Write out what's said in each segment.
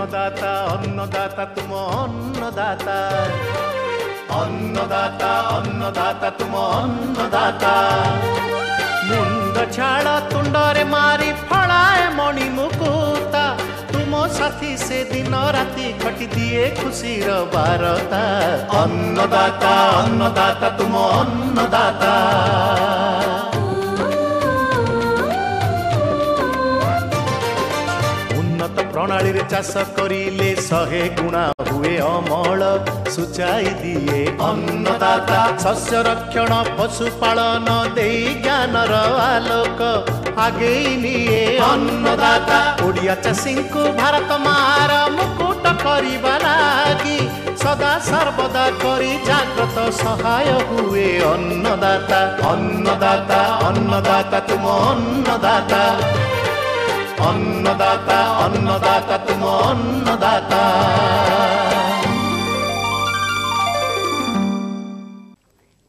ଅନ୍ନଦାତା ଅନ୍ନଦାତା ତୁମ ଅନ୍ନଦାତା, ଅନ୍ନଦାତା ଅନ୍ନଦାତା ତୁମ ଅନ୍ନଦାତା। ମୁଣ୍ଡ ଝାଳ ତୁଣ୍ଡରେ ମାରି ଫଳାଏ ମଣି ମୁକୁତା, ତୁମ ସାଥୀ ସେ ଦିନ ରାତି ଖଟି ଦିଏ ଖୁସିର ବାରତା। ଅନ୍ନଦାତା ଅନ୍ନଦାତା ତୁମ ଅନ୍ନଦାତା। ଉନ୍ନତ ପ୍ରଣାଳୀରେ ଚାଷ କରିଲେ 100 ଗୁଣା ହୁଏ ଅମଳ, ସୂଚାଇ ଦିଏ ଅନ୍ନଦାତା। ଶସ୍ୟ ରକ୍ଷଣ ପଶୁପାଳନ ଦେଇ ଜ୍ଞାନର ଆଲୋକ ଆଗେଇ ନିଏ ଅନ୍ନଦାତା। ଓଡ଼ିଆ ଚାଷୀଙ୍କୁ ଭାରତ ମାର ମୁକୁଟ କରିବା ଲାଗି ସଦା ସର୍ବଦା କରି ଜାଗ୍ରତ ସହାୟ ହୁଏ ଅନ୍ନଦାତା। ଅନ୍ନଦାତା ଅନ୍ନଦାତା ତୁମ ଅନ୍ନଦାତା, ଅନ୍ନଦାତା ଅନ୍ନଦାତା ତୁମ ଅନ୍ନଦାତା।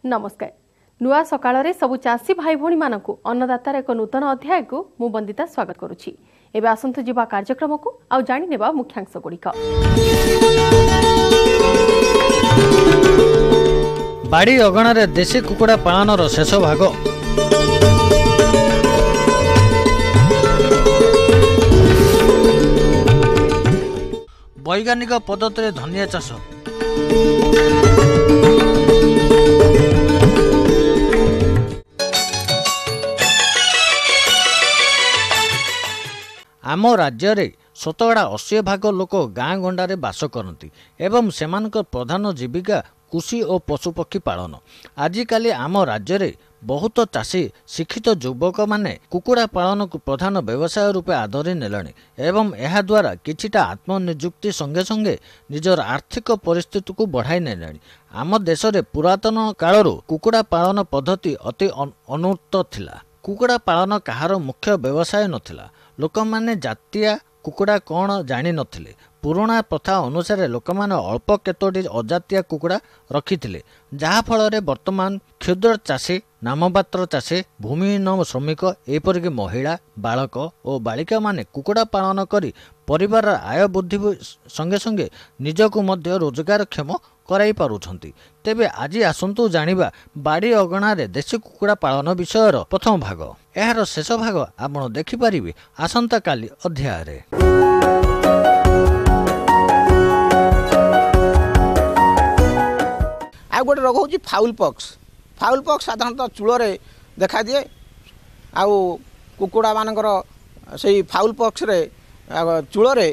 ନମସ୍କାର, ନୂଆ ସକାଳରେ ସବୁ ଚାଷୀ ଭାଇ ଭଉଣୀମାନଙ୍କୁ ଅନ୍ନଦାତାର ଏକ ନୂତନ ଅଧ୍ୟାୟକୁ ମୁଁ ବନ୍ଦିତା ସ୍ୱାଗତ କରୁଛି। ଏବେ ଆସନ୍ତୁ ଯିବା କାର୍ଯ୍ୟକ୍ରମକୁ ଆଉ ଜାଣିନେବା ମୁଖ୍ୟାଂଶ ଗୁଡ଼ିକ। ବାଡ଼ି ଅଗଣାରେ ଦେଶୀ କୁକୁଡ଼ା ପାଳନର ଶେଷ ଭାଗ। ବୈଜ୍ଞାନିକ ପଦ୍ଧତିରେ ଧନିଆ ଚାଷ। ଆମ ରାଜ୍ୟରେ 80% ଭାଗ ଲୋକ ଗାଁ ଗଣ୍ଡାରେ ବାସ କରନ୍ତି ଏବଂ ସେମାନଙ୍କ ପ୍ରଧାନ ଜୀବିକା କୃଷି ଓ ପଶୁପକ୍ଷୀ ପାଳନ। ଆଜିକାଲି ଆମ ରାଜ୍ୟରେ ବହୁତ ଚାଷୀ ଶିକ୍ଷିତ ଯୁବକମାନେ କୁକୁଡ଼ା ପାଳନକୁ ପ୍ରଧାନ ବ୍ୟବସାୟ ରୂପେ ଆଦରି ନେଲେଣି ଏବଂ ଏହାଦ୍ୱାରା କିଛିଟା ଆତ୍ମନିଯୁକ୍ତି ସଙ୍ଗେ ସଙ୍ଗେ ନିଜର ଆର୍ଥିକ ପରିସ୍ଥିତିକୁ ବଢ଼ାଇ ନେଲେଣି। ଆମ ଦେଶରେ ପୁରାତନ କାଳରୁ କୁକୁଡ଼ା ପାଳନ ପଦ୍ଧତି ଅତି ଅନୁନ୍ନତ ଥିଲା। କୁକୁଡ଼ା ପାଳନ କାହାର ମୁଖ୍ୟ ବ୍ୟବସାୟ ନଥିଲା। ଲୋକମାନେ ଜାତିଆ କୁକୁଡ଼ା କ'ଣ ଜାଣିନଥିଲେ। ପୁରୁଣା ପ୍ରଥା ଅନୁସାରେ ଲୋକମାନେ ଅଳ୍ପ କେତୋଟି ଅଜାତିଆ କୁକୁଡ଼ା ରଖିଥିଲେ, ଯାହାଫଳରେ ବର୍ତ୍ତମାନ କ୍ଷୁଦ୍ର ଚାଷୀ, ନାମମାତ୍ର ଚାଷୀ, ଭୂମିହୀନ ଶ୍ରମିକ, ଏପରିକି ମହିଳା, ବାଳକ ଓ ବାଳିକାମାନେ କୁକୁଡ଼ା ପାଳନ କରି ପରିବାରର ଆୟ ବୃଦ୍ଧି ସଙ୍ଗେ ସଙ୍ଗେ ନିଜକୁ ମଧ୍ୟ ରୋଜଗାରକ୍ଷମ କରାଇ ପାରୁଛନ୍ତି। ତେବେ ଆଜି ଆସନ୍ତୁ ଜାଣିବା ବାଡ଼ି ଅଗଣାରେ ଦେଶୀ କୁକୁଡ଼ା ପାଳନ ବିଷୟର ପ୍ରଥମ ଭାଗ। ଏହାର ଶେଷ ଭାଗ ଆପଣ ଦେଖିପାରିବେ ଆସନ୍ତାକାଲି ଅଧ୍ୟାୟରେ। ଆଉ ଗୋଟେ ରୋଗ ହେଉଛି ଫାଉଲ୍ ପକ୍ସ। ଫାଉଲ୍ ପକ୍ସ ସାଧାରଣତଃ ଚୂଳରେ ଦେଖାଦିଏ, ଆଉ କୁକୁଡ଼ାମାନଙ୍କର ସେଇ ଫାଉଲ୍ ପକ୍ସରେ ଚୂଳରେ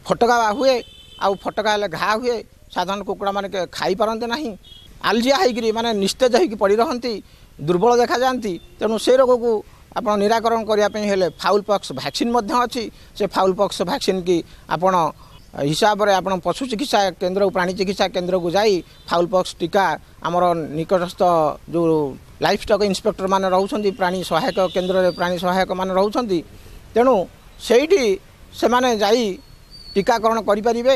ଫୋଟକା ହୁଏ, ଆଉ ଫୋଟକା ହେଲେ ଘା ହୁଏ। ସାଧାରଣ କୁକୁଡ଼ାମାନେ ଖାଇପାରନ୍ତି ନାହିଁ, ଆଲଜିଆ ହେଇକିରି ମାନେ ନିସ୍ତେଜ ହେଇକି ପଡ଼ି ରହନ୍ତି, ଦୁର୍ବଳ ଦେଖାଯାଆନ୍ତି। ତେଣୁ ସେ ରୋଗକୁ ଆପଣ ନିରାକରଣ କରିବା ପାଇଁ ହେଲେ ଫାଉଲ୍ ପକ୍ସ ଭ୍ୟାକ୍ସିନ୍ ମଧ୍ୟ ଅଛି। ସେ ଫାଉଲ୍ ପକ୍ସ ଭ୍ୟାକ୍ସିନ୍ କି ଆପଣ ହିସାବରେ ଆପଣ ପଶୁ ଚିକିତ୍ସା କେନ୍ଦ୍ରକୁ, ପ୍ରାଣୀ ଚିକିତ୍ସା କେନ୍ଦ୍ରକୁ ଯାଇ ଫାଉଲ୍ ପକ୍ସ ଟୀକା ଆମର ନିକଟସ୍ଥ ଯେଉଁ ଲାଇଫ୍ ଷ୍ଟକ୍ ଇନ୍ସପେକ୍ଟର ମାନେ ରହୁଛନ୍ତି, ପ୍ରାଣୀ ସହାୟକ କେନ୍ଦ୍ରରେ ପ୍ରାଣୀ ସହାୟକମାନେ ରହୁଛନ୍ତି, ତେଣୁ ସେଇଠି ସେମାନେ ଯାଇ ଟୀକାକରଣ କରିପାରିବେ।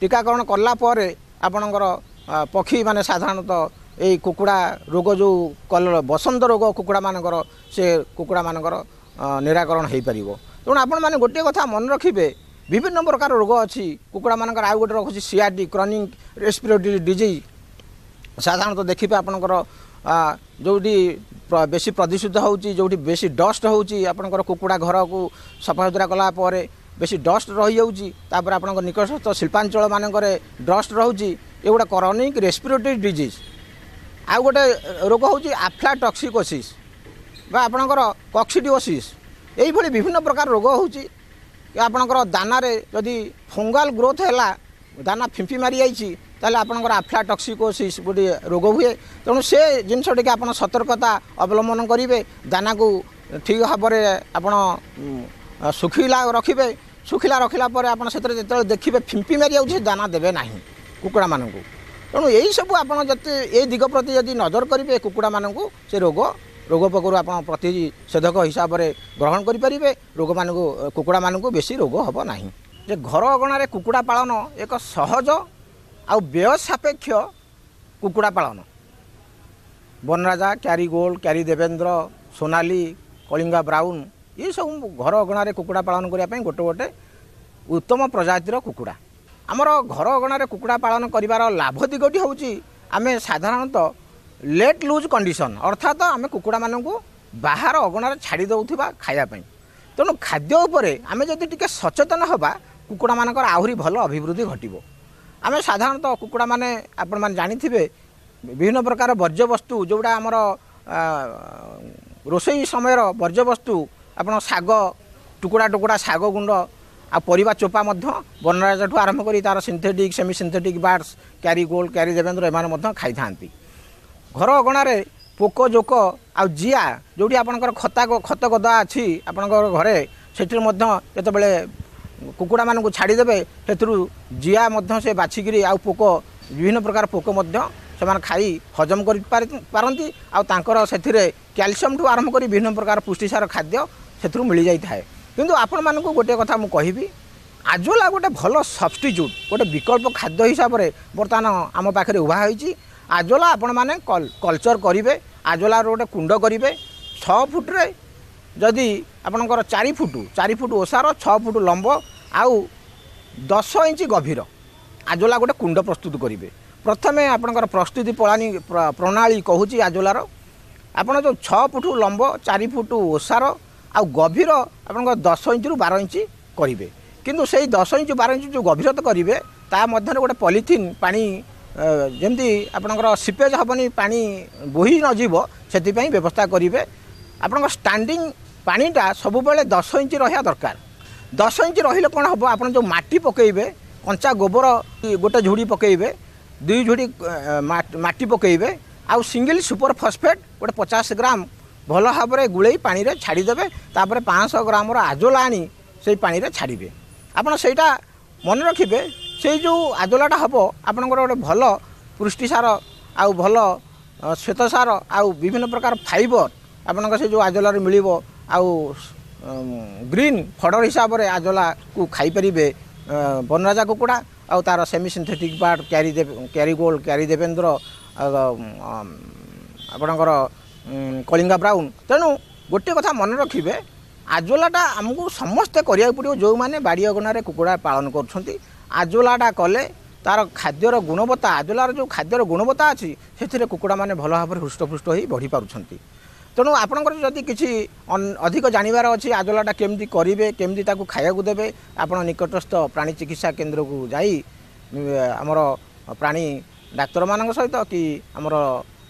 ଟୀକାକରଣ କଲା ପରେ ଆପଣଙ୍କର ପକ୍ଷୀମାନେ ସାଧାରଣତଃ ଏଇ କୁକୁଡ଼ା ରୋଗ ଯେଉଁ କଲର ବସନ୍ତ ରୋଗ କୁକୁଡ଼ାମାନଙ୍କର, ସେ କୁକୁଡ଼ାମାନଙ୍କର ନିରାକରଣ ହୋଇପାରିବ। ତେଣୁ ଆପଣମାନେ ଗୋଟିଏ କଥା ମନେ ରଖିବେ, ବିଭିନ୍ନ ପ୍ରକାର ରୋଗ ଅଛି କୁକୁଡ଼ାମାନଙ୍କର। ଆଉ ଗୋଟେ ରୋଗ ଅଛି ସିଆରଡି, କ୍ରନିକ୍ ରେସ୍ପିରେଟୋରୀ ଡିଜିଜ୍। ସାଧାରଣତଃ ଦେଖିବେ ଆପଣଙ୍କର ଯେଉଁଠି ବେଶୀ ପ୍ରଦୂଷିତ ହେଉଛି, ଯେଉଁଠି ବେଶୀ ଡଷ୍ଟ ହେଉଛି, ଆପଣଙ୍କର କୁକୁଡ଼ା ଘରକୁ ସଫାସୁତୁରା କଲା ପରେ ବେଶୀ ଡଷ୍ଟ ରହିଯାଉଛି, ତାପରେ ଆପଣଙ୍କ ନିକଟସ୍ଥ ଶିଳ୍ପାଞ୍ଚଳ ମାନଙ୍କରେ ଡଷ୍ଟ ରହୁଛି, ଏଗୁଡ଼ା କ୍ରନିକ୍ ରେସ୍ପିରେଟୋରୀ ଡିଜିଜ୍। ଆଉ ଗୋଟେ ରୋଗ ହେଉଛି ଆଫ୍ଲାଟକ୍ସିକୋସିସ୍ ବା ଆପଣଙ୍କର କକ୍ସିଡିଓସିସ୍। ଏଇଭଳି ବିଭିନ୍ନ ପ୍ରକାର ରୋଗ ହେଉଛି। ଆପଣଙ୍କର ଦାନାରେ ଯଦି ଫଙ୍ଗାଲ ଗ୍ରୋଥ୍ ହେଲା, ଦାନା ଫିମ୍ପି ମାରିଯାଇଛି, ତାହେଲେ ଆପଣଙ୍କର ଆଫ୍ଲାଟକ୍ସିକୋସିସ୍ ଗୋଟିଏ ରୋଗ ହୁଏ। ତେଣୁ ସେ ଜିନିଷ ଟିକେ ଆପଣ ସତର୍କତା ଅବଲମ୍ବନ କରିବେ, ଦାନାକୁ ଠିକ୍ ଭାବରେ ଆପଣ ଶୁଖିଲା ରଖିବେ। ଶୁଖିଲା ରଖିଲା ପରେ ଆପଣ ସେଥିରେ ଯେତେବେଳେ ଦେଖିବେ ଫିମ୍ପି ମାରିଯାଉଛି, ଦାନା ଦେବେ ନାହିଁ କୁକୁଡ଼ାମାନଙ୍କୁ। ତେଣୁ ଏଇସବୁ ଆପଣ ଯେତେ ଏଇ ଦିଗ ପ୍ରତି ଯଦି ନଜର କରିବେ, କୁକୁଡ଼ାମାନଙ୍କୁ ସେ ରୋଗ ପୋକରୁ ଆପଣ ପ୍ରତିଷେଧକ ହିସାବରେ ଗ୍ରହଣ କରିପାରିବେ। ରୋଗମାନଙ୍କୁ କୁକୁଡ଼ାମାନଙ୍କୁ ବେଶୀ ରୋଗ ହେବ ନାହିଁ। ଯେ ଘର ଅଗଣାରେ କୁକୁଡ଼ା ପାଳନ ଏକ ସହଜ ଆଉ ବ୍ୟୟ ସାପେକ୍ଷ କୁକୁଡ଼ା ପାଳନ। Vanaraja, CARI gold, CARI Devendra, Sonali, Kalinga brown, ଏସବୁ ଘର ଅଗଣାରେ କୁକୁଡ଼ା ପାଳନ କରିବା ପାଇଁ ଗୋଟେ ଗୋଟେ ଉତ୍ତମ ପ୍ରଜାତିର କୁକୁଡ଼ା। ଆମର ଘର ଅଗଣାରେ କୁକୁଡ଼ା ପାଳନ କରିବାର ଲାଭ ଦିଗଟି ହେଉଛି ଆମେ ସାଧାରଣତଃ ଲେଟ୍ ଲୁଜ୍ କଣ୍ଡିସନ୍, ଅର୍ଥାତ ଆମେ କୁକୁଡ଼ାମାନଙ୍କୁ ବାହାର ଅଗଣାରେ ଛାଡ଼ି ଦେଉଥିବା ଖାଇବା ପାଇଁ। ତେଣୁ ଖାଦ୍ୟ ଉପରେ ଆମେ ଯଦି ଟିକେ ସଚେତନ ହେବା, କୁକୁଡ଼ାମାନଙ୍କର ଆହୁରି ଭଲ ଅଭିବୃଦ୍ଧି ଘଟିବ। ଆମେ ସାଧାରଣତଃ କୁକୁଡ଼ାମାନେ ଆପଣମାନେ ଜାଣିଥିବେ ବିଭିନ୍ନ ପ୍ରକାର ବର୍ଜ୍ୟବସ୍ତୁ, ଯେଉଁଟା ଆମର ରୋଷେଇ ସମୟର ବର୍ଜ୍ୟବସ୍ତୁ, ଆପଣ ଶାଗ ଟୁକୁଡ଼ା ଟୁକୁଡ଼ା ଶାଗ ଗୁଣ୍ଡ ଆଉ ପରିବା ଚୋପା ମଧ୍ୟ ବନରାଜାଠୁ ଆରମ୍ଭ କରି ତା'ର synthetic, semi synthetic birds, Kerry Gold, Kerry Devendra ଏମାନେ ମଧ୍ୟ ଖାଇଥାନ୍ତି। ଘର ଅଗଣାରେ ପୋକ ଜୋକ ଆଉ ଜିଆ, ଯେଉଁଠି ଆପଣଙ୍କର ଖତ ଗଦା ଅଛି ଆପଣଙ୍କର ଘରେ, ସେଥିରୁ ମଧ୍ୟ ଯେତେବେଳେ କୁକୁଡ଼ାମାନଙ୍କୁ ଛାଡ଼ିଦେବେ ସେଥିରୁ ଜିଆ ମଧ୍ୟ ସେ ବାଛିକିରି ଆଉ ପୋକ, ବିଭିନ୍ନ ପ୍ରକାର ପୋକ ମଧ୍ୟ ସେମାନେ ଖାଇ ହଜମ କରିପାରନ୍ତି। ଆଉ ତାଙ୍କର ସେଥିରେ କ୍ୟାଲସିୟମଠୁ ଆରମ୍ଭ କରି ବିଭିନ୍ନ ପ୍ରକାର ପୁଷ୍ଟିସାର ଖାଦ୍ୟ ସେଥିରୁ ମିଳିଯାଇଥାଏ। କିନ୍ତୁ ଆପଣମାନଙ୍କୁ ଗୋଟିଏ କଥା ମୁଁ କହିବି, ଆଜୋଲା ଗୋଟେ ଭଲ ସବଷ୍ଟିଚ୍ୟୁଟ୍, ଗୋଟେ ବିକଳ୍ପ ଖାଦ୍ୟ ହିସାବରେ ବର୍ତ୍ତମାନ ଆମ ପାଖରେ ଉଭା ହୋଇଛି। ଆଜୋଲା ଆପଣମାନେ କଲଚର୍ କରିବେ, ଆଜୋଲାର ଗୋଟେ କୁଣ୍ଡ କରିବେ 6 ଫୁଟରେ, ଯଦି ଆପଣଙ୍କର 4 ଫୁଟ, 4 ଫୁଟ ଓସାର, 6 ଫୁଟ ଲମ୍ବ ଆଉ 10 ଇଞ୍ଚ ଗଭୀର ଆଜୋଲା ଗୋଟେ କୁଣ୍ଡ ପ୍ରସ୍ତୁତ କରିବେ। ପ୍ରଥମେ ଆପଣଙ୍କର ପ୍ରସ୍ତୁତି ପ୍ରଣାଳୀ କହୁଛି ଆଜୋଲାର। ଆପଣ ଯେଉଁ 6 ଫୁଟ ଲମ୍ବ, 4 ଫୁଟ ଓସାର ଆଉ ଗଭୀର ଆପଣଙ୍କର 10 ଇଞ୍ଚରୁ 12 ଇଞ୍ଚ କରିବେ। କିନ୍ତୁ ସେଇ 10 ଇଞ୍ଚ 12 ଇଞ୍ଚ ଯେଉଁ ଗଭୀରତା କରିବେ ତା ମଧ୍ୟରେ ଗୋଟେ ପଲିଥିନ୍ ପାଣି ଯେମିତି ଆପଣଙ୍କର ସିପେଜ୍ ହେବନି, ପାଣି ବୋହି ନଯିବ, ସେଥିପାଇଁ ବ୍ୟବସ୍ଥା କରିବେ। ଆପଣଙ୍କ ଷ୍ଟାଣ୍ଡିଂ ପାଣିଟା ସବୁବେଳେ 10 ଇଞ୍ଚ ରହିବା ଦରକାର। 10 ଇଞ୍ଚ ରହିଲେ କ'ଣ ହେବ, ଆପଣ ଯେଉଁ ମାଟି ପକାଇବେ, କଞ୍ଚା ଗୋବର ଗୋଟେ ଝୁଡ଼ି ପକାଇବେ, 2 ଝୁଡ଼ି ମାଟି ପକାଇବେ, ଆଉ ସିଙ୍ଗିଲ୍ ସୁପର ଫସ୍ଫେଟ୍ ଗୋଟେ 50 ଗ୍ରାମ ଭଲ ଭାବରେ ଗୁଳେଇ ପାଣିରେ ଛାଡ଼ିଦେବେ। ତାପରେ 500 ଗ୍ରାମର ଆଜୋଲା ଆଣି ସେଇ ପାଣିରେ ଛାଡ଼ିବେ। ଆପଣ ସେଇଟା ମନେ ରଖିବେ, ସେଇ ଯେଉଁ ଆଜୋଲାଟା ହେବ ଆପଣଙ୍କର ଗୋଟେ ଭଲ ପୁଷ୍ଟିସାର ଆଉ ଭଲ ଶ୍ୱେତସାର ଆଉ ବିଭିନ୍ନ ପ୍ରକାର ଫାଇବର ଆପଣଙ୍କ ସେ ଯେଉଁ ଆଜୋଲାରୁ ମିଳିବ। ଆଉ ଗ୍ରୀନ୍ ଫଡ଼ର ହିସାବରେ ଆଜୋଲାକୁ ଖାଇପାରିବେ ବନରାଜା କୁକୁଡ଼ା ଆଉ ତା'ର semi synthetic bird CARI gold, CARI Devendra, ଆପଣଙ୍କର କଳିଙ୍ଗା ବ୍ରାଉନ୍। ତେଣୁ ଗୋଟିଏ କଥା ମନେ ରଖିବେ, ଆଜୋଲାଟା ଆମକୁ ସମସ୍ତେ କରିବାକୁ ପଡ଼ିବ। ଯେଉଁମାନେ ବାଡ଼ି ଅଗଣାରେ କୁକୁଡ଼ା ପାଳନ କରୁଛନ୍ତି, ଆଜୋଲାଟା କଲେ ତା'ର ଖାଦ୍ୟର ଗୁଣବତ୍ତା, ଆଜୋଲାର ଯେଉଁ ଖାଦ୍ୟର ଗୁଣବତ୍ତା ଅଛି ସେଥିରେ କୁକୁଡ଼ାମାନେ ଭଲ ଭାବରେ ହୃଷ୍ଟପୃଷ୍ଟ ହୋଇ ବଢ଼ି ପାରୁଛନ୍ତି। ତେଣୁ ଆପଣଙ୍କର ଯଦି କିଛି ଅଧିକ ଜାଣିବାର ଅଛି ଆଜୋଲାଟା କେମିତି କରିବେ, କେମିତି ତାକୁ ଖାଇବାକୁ ଦେବେ, ଆପଣ ନିକଟସ୍ଥ ପ୍ରାଣୀ ଚିକିତ୍ସା କେନ୍ଦ୍ରକୁ ଯାଇ ଆମର ପ୍ରାଣୀ ଡାକ୍ତରମାନଙ୍କ ସହିତ କି ଆମର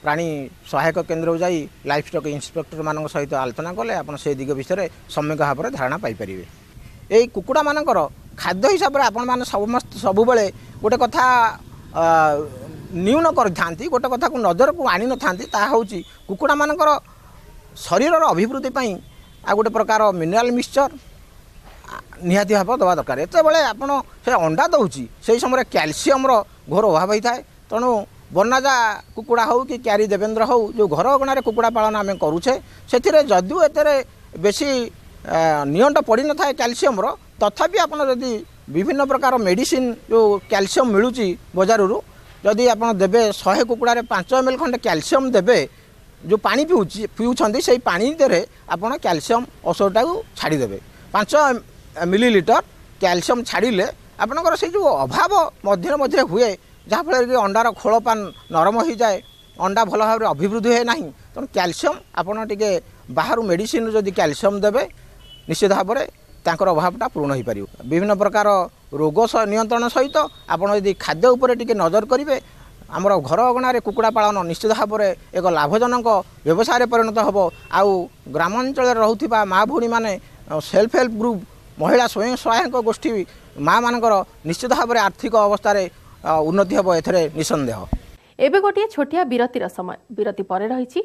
ପ୍ରାଣୀ ସହାୟକ କେନ୍ଦ୍ରକୁ ଯାଇ ଲାଇଫ୍ ଷ୍ଟକ୍ ଇନ୍ସପେକ୍ଟରମାନଙ୍କ ସହିତ ଆଲୋଚନା କଲେ ଆପଣ ସେ ଦିଗ ବିଷୟରେ ସମ୍ୟକ ଭାବରେ ଧାରଣା ପାଇପାରିବେ। ଏଇ କୁକୁଡ଼ାମାନଙ୍କର ଖାଦ୍ୟ ହିସାବରେ ଆପଣମାନେ ସମସ୍ତେ ସବୁବେଳେ ଗୋଟେ କଥା ନ୍ୟୁନ କରିଥାନ୍ତି, ଗୋଟେ କଥାକୁ ନଜରକୁ ଆଣିନଥାନ୍ତି, ତାହା ହେଉଛି କୁକୁଡ଼ାମାନଙ୍କର ଶରୀରର ଅଭିବୃଦ୍ଧି ପାଇଁ ଆଉ ଗୋଟେ ପ୍ରକାର ମିନେରାଲ୍ ମିକ୍ସଚର୍ ନିହାତି ଭାବେ ଦେବା ଦରକାର। ଯେତେବେଳେ ଆପଣ ସେ ଅଣ୍ଡା ଦେଉଛି ସେହି ସମୟରେ କ୍ୟାଲସିୟମର ଘୋର ଅଭାବ ହୋଇଥାଏ। ତେଣୁ ବନରାଜା କୁକୁଡ଼ା ହେଉ କି କ୍ୟାରି ଦେବେନ୍ଦ୍ର ହେଉ, ଯେଉଁ ଘର ଅଗଣାରେ କୁକୁଡ଼ା ପାଳନ ଆମେ କରୁଛେ ସେଥିରେ ଯଦିଓ ଏଥିରେ ବେଶୀ ନିଅଣ୍ଟ ପଡ଼ିନଥାଏ କ୍ୟାଲସିୟମର, ତଥାପି ଆପଣ ଯଦି ବିଭିନ୍ନ ପ୍ରକାର ମେଡ଼ିସିନ ଯେଉଁ କ୍ୟାଲସିୟମ ମିଳୁଛି ବଜାରରୁ, ଯଦି ଆପଣ ଦେବେ 100 କୁକୁଡ଼ାରେ 5 ml ଖଣ୍ଡେ କ୍ୟାଲସିୟମ ଦେବେ, ଯେଉଁ ପାଣି ପିଉଛନ୍ତି ସେଇ ପାଣି ଦେହରେ ଆପଣ କ୍ୟାଲସିୟମ ଔଷଧଟାକୁ ଛାଡ଼ିଦେବେ। 5 ମିଲିଲିଟର କ୍ୟାଲସିୟମ ଛାଡ଼ିଲେ ଆପଣଙ୍କର ସେଇ ଯେଉଁ ଅଭାବ ମଧ୍ୟରେ ମଧ୍ୟରେ ହୁଏ, ଯାହାଫଳରେ କି ଅଣ୍ଡାର ଖୋଳପା ନରମ ହୋଇଯାଏ, ଅଣ୍ଡା ଭଲ ଭାବରେ ଅଭିବୃଦ୍ଧି ହୁଏ ନାହିଁ। ତେଣୁ କ୍ୟାଲସିୟମ ଆପଣ ଟିକେ ବାହାରୁ ମେଡ଼ିସିନରୁ ଯଦି କ୍ୟାଲସିୟମ ଦେବେ ନିଶ୍ଚିତ ଭାବରେ ତାଙ୍କର ଅଭାବଟା ପୂରଣ ହୋଇପାରିବ। ବିଭିନ୍ନ ପ୍ରକାର ରୋଗ ନିୟନ୍ତ୍ରଣ ସହିତ ଆପଣ ଯଦି ଖାଦ୍ୟ ଉପରେ ଟିକେ ନଜର କରିବେ, ଆମର ଘର ଅଗଣାରେ କୁକୁଡ଼ା ପାଳନ ନିଶ୍ଚିତ ଭାବରେ ଏକ ଲାଭଜନକ ବ୍ୟବସାୟରେ ପରିଣତ ହେବ। ଆଉ ଗ୍ରାମାଞ୍ଚଳରେ ରହୁଥିବା ମା ଭଉଣୀମାନେ ସେଲ୍ଫ ହେଲ୍ପ ଗ୍ରୁପ୍, ମହିଳା ସ୍ୱୟଂ ସହାୟକ ଗୋଷ୍ଠୀ ମାଆମାନଙ୍କର ନିଶ୍ଚିତ ଭାବରେ ଆର୍ଥିକ ଅବସ୍ଥାରେ ଉନ୍ନତି ହେବ, ଏଥିରେ ନିଃସନ୍ଦେହ। ଏବେ ଗୋଟିଏ ଛୋଟିଆ ବିରତିର ସମୟ, ବିରତି ପରେ ରହିଛି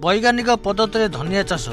ବୈଜ୍ଞାନିକ ପଦ୍ଧତିରେ ଧନିଆ ଚାଷ।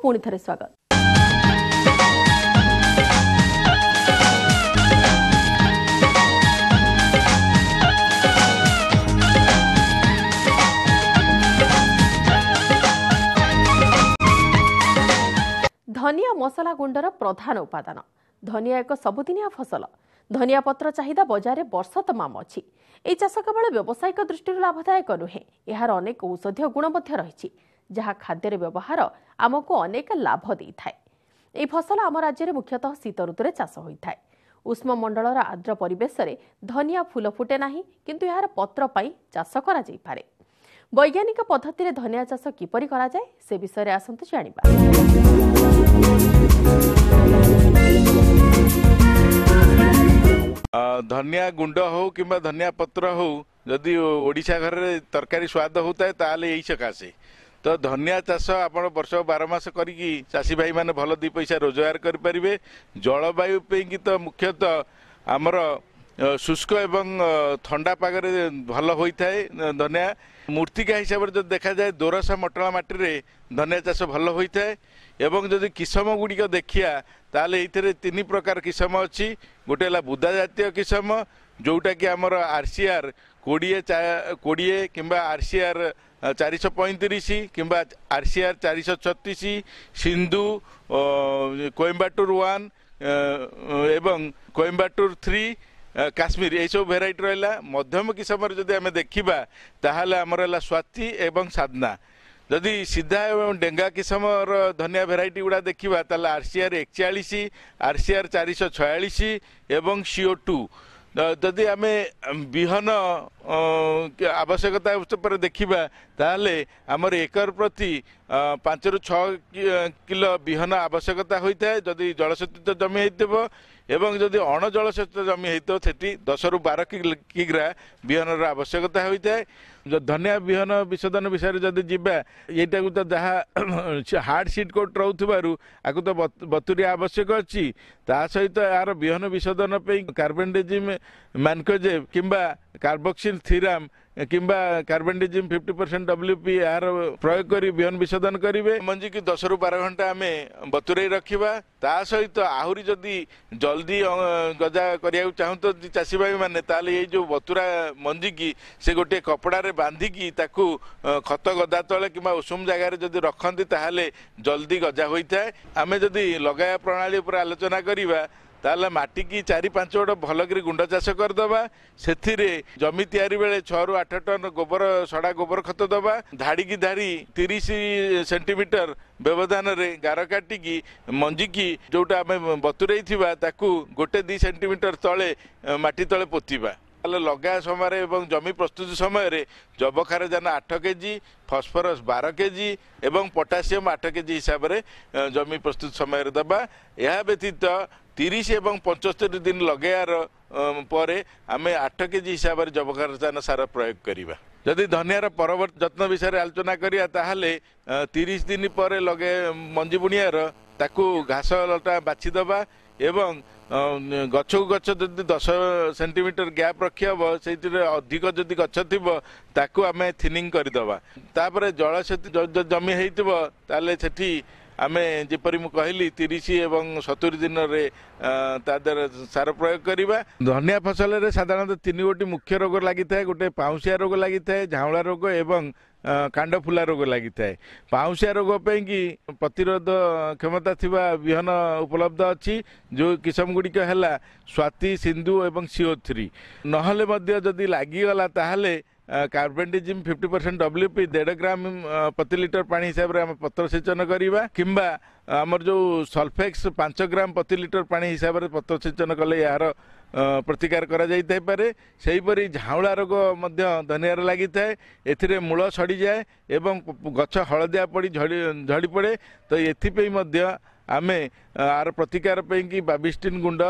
ପୁଣି ଥରେ ସ୍ୱାଗତ। ଧନିଆ ମସଲା ଗୁଣ୍ଡର ପ୍ରଧାନ ଉପାଦାନ। ଧନିଆ ଏକ ସବୁଦିନିଆ ଫସଲ। ଧନିଆ ପତ୍ର ଚାହିଦା ବଜାରରେ ବର୍ଷ ତମାମ ଅଛି। ଏହି ଚାଷ କେବଳ ବ୍ୟବସାୟିକ ଦୃଷ୍ଟିରୁ ଲାଭଦାୟକ ନୁହେଁ, ଏହାର ଅନେକ ଔଷଧୀୟ ଗୁଣ ମଧ୍ୟ ରହିଛି, ଯାହା ଖାଦ୍ୟରେ ବ୍ୟବହାର ଆମକୁ ଅନେକ ଲାଭ ଦେଇଥାଏ। ଏହି ଫସଲ ଆମ ରାଜ୍ୟରେ ମୁଖ୍ୟତଃ ଶୀତ ଋତୁରେ ଚାଷ ହୋଇଥାଏ। ଉଷ୍ମମଣ୍ଡଳର ଆର୍ଦ୍ର ପରିବେଶରେ ଧନିଆ ଫୁଲ ଫୁଟେ ନାହିଁ, କିନ୍ତୁ ଏହାର ପତ୍ର ପାଇଁ ଚାଷ କରାଯାଇପାରେ। ବୈଜ୍ଞାନିକ ପଦ୍ଧତିରେ ଧନିଆ ଚାଷ କିପରି କରାଯାଏ ସେ ବିଷୟରେ ଆସନ୍ତୁ ଜାଣିବା। ଧନିଆ ଗୁଣ୍ଡ ହଉ କିମ୍ବା ଧନିଆ ପତ୍ର ହଉ, ଯଦି ଓଡ଼ିଶା ଘରରେ ତରକାରୀ ସ୍ୱାଦ ହେଉଥାଏ ତାହେଲେ ଏଇ ସକାଶେ ତ ଧନିଆ ଚାଷ ଆପଣ ବର୍ଷ 12 ମାସ କରିକି ଚାଷୀ ଭାଇମାନେ ଭଲ 2 ପଇସା ରୋଜଗାର କରିପାରିବେ। ଜଳବାୟୁ ପାଇଁକି ତ ମୁଖ୍ୟତଃ ଆମର ଶୁଷ୍କ ଏବଂ ଥଣ୍ଡା ପାଗରେ ଭଲ ହୋଇଥାଏ ଧନିଆ। ମୂର୍ତ୍ତିକା ହିସାବରେ ଯଦି ଦେଖାଯାଏ ଦୋରସା ମଟଳା ମାଟିରେ ଧନିଆ ଚାଷ ଭଲ ହୋଇଥାଏ। ଏବଂ ଯଦି କିସମ ଗୁଡ଼ିକ ଦେଖିବା ତାହେଲେ ଏଇଥିରେ 3 ପ୍ରକାର କିସମ ଅଛି। ଗୋଟେ ହେଲା ବୁଦା ଜାତୀୟ କିସମ, ଯେଉଁଟାକି ଆମର RCR 20 କିମ୍ବା RCR 435 କିମ୍ବା RCR 436, Sindhu, Coimbatore 1 ଏବଂ କୋଏମ୍ବାଟୁର 3, କାଶ୍ମୀର, ଏଇସବୁ ଭେରାଇଟି ରହିଲା। ମଧ୍ୟମ କିସମରେ ଯଦି ଆମେ ଦେଖିବା ତାହେଲେ ଆମର ହେଲା ସ୍ୱାତି ଏବଂ ସାଧନା। ଯଦି ସିଧା ଏବଂ ଡେଙ୍ଗା କିସମର ଧନିଆ ଭେରାଇଟି ଗୁଡ଼ା ଦେଖିବା ତାହେଲେ RCR 41, RCR 446 ଏବଂ CO2। ଯଦି ଆମେ ବିହନ ଆବଶ୍ୟକତା ଉପରେ ଦେଖିବା ତାହେଲେ ଆମର ଏକର ପ୍ରତି 5ରୁ 6 କିଲୋ ବିହନ ଆବଶ୍ୟକତା ହୋଇଥାଏ ଯଦି ଜଳସେଚିତ ଜମି ହେଇଥିବ, ଏବଂ ଯଦି ଅଣଜଳସେଚିତ ଜମି ହେଇଥିବ ସେଠି 10ରୁ 12 କିଗ୍ରା ବିହନର ଆବଶ୍ୟକତା ହୋଇଥାଏ। ଧନିଆ ବିହନ ବିଶୋଧନ ବିଷୟରେ ଯଦି ଯିବା, ଏଇଟାକୁ ତ ଯାହା ହାର୍ଡ଼ ସିଟ୍ କୋଟ୍ ରହୁଥିବାରୁ ଆକୁ ତ ବତୁରିଆ ଆବଶ୍ୟକ ଅଛି। ତା ସହିତ ଏହାର ବିହନ ବିଶୋଧନ ପାଇଁ କାର୍ବନଡିଜିମ୍ ମ୍ୟାନକୋଜେବ୍ କିମ୍ବା କାର୍ବୋକ୍ସିଲ୍ ଥିରାମ୍ କିମ୍ବା କାର୍ବନଡିଜିମ୍ 50% WP ଏହାର ପ୍ରୟୋଗ କରି ବିହନ ବିଶୋଧନ କରିବେ। ମଞ୍ଜିକୁ 10ରୁ 12 ଘଣ୍ଟା ଆମେ ବତୁରେଇ ରଖିବା। ତା ସହିତ ଆହୁରି ଯଦି ଜଲ୍ଦି ଗଜା କରିବାକୁ ଚାହୁଁଛନ୍ତି ଚାଷୀ ଭାଇମାନେ, ତାହେଲେ ଏଇ ଯେଉଁ ବତୁରା ମଞ୍ଜିକି ସେ ଗୋଟିଏ କପଡ଼ାରେ ବାନ୍ଧିକି ତାକୁ ଖତ ଗଦା ତଳେ କିମ୍ବା ଉଷୁମ ଜାଗାରେ ଯଦି ରଖନ୍ତି ତାହେଲେ ଜଲ୍ଦି ଗଜା ହୋଇଥାଏ। ଆମେ ଯଦି ଲଗାଇବା ପ୍ରଣାଳୀ ଉପରେ ଆଲୋଚନା କରିବା ତାହେଲେ ମାଟିକି 4-5 ଗୋଡ଼ ଭଲକରି ଗୁଣ୍ଡ ଚାଷ କରିଦେବା। ସେଥିରେ ଜମି ତିଆରି ବେଳେ 6ରୁ 8 ଟନ୍ ଗୋବର ସଡ଼ା ଗୋବର ଖତ ଦେବା। ଧାଡ଼ିକି ଧାଡ଼ି 30 ସେଣ୍ଟିମିଟର ବ୍ୟବଧାନରେ ଗାର କାଟିକି ମଞ୍ଜିକି ଯେଉଁଟା ଆମେ ବତୁରେଇ ଥିବା ତାକୁ 1-2 ସେଣ୍ଟିମିଟର ତଳେ ମାଟି ତଳେ ପୋତିବା। ତାହେଲେ ଲଗା ସମୟରେ ଏବଂ ଜମି ପ୍ରସ୍ତୁତି ସମୟରେ ଯବକ୍ଷାରଜାନ 8 କେଜି, ଫସଫରସ୍ 12 କେଜି ଏବଂ ପଟାସିୟମ୍ 8 କେଜି ହିସାବରେ ଜମି ପ୍ରସ୍ତୁତି ସମୟରେ ଦେବା। ଏହା ବ୍ୟତୀତ 30 ଏବଂ 75 ଦିନ ଲଗାଇବାର ପରେ ଆମେ 8 କେଜି ହିସାବରେ ଯବକ୍ଷାରଜାନ ସାର ପ୍ରୟୋଗ କରିବା। ଯଦି ଧନିଆର ପରବର୍ତ୍ତୀ ଯତ୍ନ ବିଷୟରେ ଆଲୋଚନା କରିବା ତାହେଲେ 30 ଦିନ ପରେ ଲଗାଇ ମଞ୍ଜି ବୁଣିବାର ତାକୁ ଘାସ ଲଟା ବାଛିଦେବା ଏବଂ ଗଛକୁ ଗଛ ଯଦି 10 ସେଣ୍ଟିମିଟର ଗ୍ୟାପ୍ ରଖିହେବ, ସେଇଥିରେ ଅଧିକ ଯଦି ଗଛ ଥିବ ତାକୁ ଆମେ ଥିନିଂ କରିଦେବା। ତାପରେ ଜଳସେଚିତ ଜମି ହେଇଥିବ ତାହେଲେ ସେଠି ଆମେ ଯେପରି ମୁଁ କହିଲି 30 ଏବଂ 70 ଦିନରେ ତା ଦେହରେ ସାର ପ୍ରୟୋଗ କରିବା। ଧନିଆ ଫସଲରେ ସାଧାରଣତଃ 3 ଗୋଟି ମୁଖ୍ୟ ରୋଗ ଲାଗିଥାଏ। ଗୋଟେ ପାଉଁଶିଆ ରୋଗ ଲାଗିଥାଏ, ଝାଉଁଳା ରୋଗ ଏବଂ କାଣ୍ଡ ଫୁଲା ରୋଗ ଲାଗିଥାଏ। ପାଉଁଶିଆ ରୋଗ ପାଇଁକି ପ୍ରତିରୋଧ କ୍ଷମତା ଥିବା ବିହନ ଉପଲବ୍ଧ ଅଛି, ଯେଉଁ କିସମ ଗୁଡ଼ିକ ହେଲା ସ୍ୱାତି, ସିନ୍ଧୁ ଏବଂ CO3। ନହେଲେ ମଧ୍ୟ ଯଦି ଲାଗିଗଲା ତାହେଲେ କାର୍ବନଡିଜିମ୍ 50% WP 1.5 ଗ୍ରାମ ପ୍ରତି ଲିଟର ପାଣି ହିସାବରେ ଆମେ ପତ୍ର ସେଚନ କରିବା, କିମ୍ବା ଆମର ଯେଉଁ ସଲଫେକ୍ସ 5 ଗ୍ରାମ ପ୍ରତି ଲିଟର ପାଣି ହିସାବରେ ପତ୍ର ସେଚନ କଲେ ଏହାର ପ୍ରତିକାର କରାଯାଇଥାଇପାରେ। ସେହିପରି ଝାଉଁଳା ରୋଗ ମଧ୍ୟ ଧନିଆରେ ଲାଗିଥାଏ। ଏଥିରେ ମୂଳ ସଡ଼ିଯାଏ ଏବଂ ଗଛ ହଳଦିଆ ପଡ଼ି ଝଡ଼ି ପଡ଼େ। ତ ଏଥିପାଇଁ ମଧ୍ୟ ଆମେ ଆର ପ୍ରତିକାର ପାଇଁକି ବାବିଷ୍ଟିନ୍ ଗୁଣ୍ଡ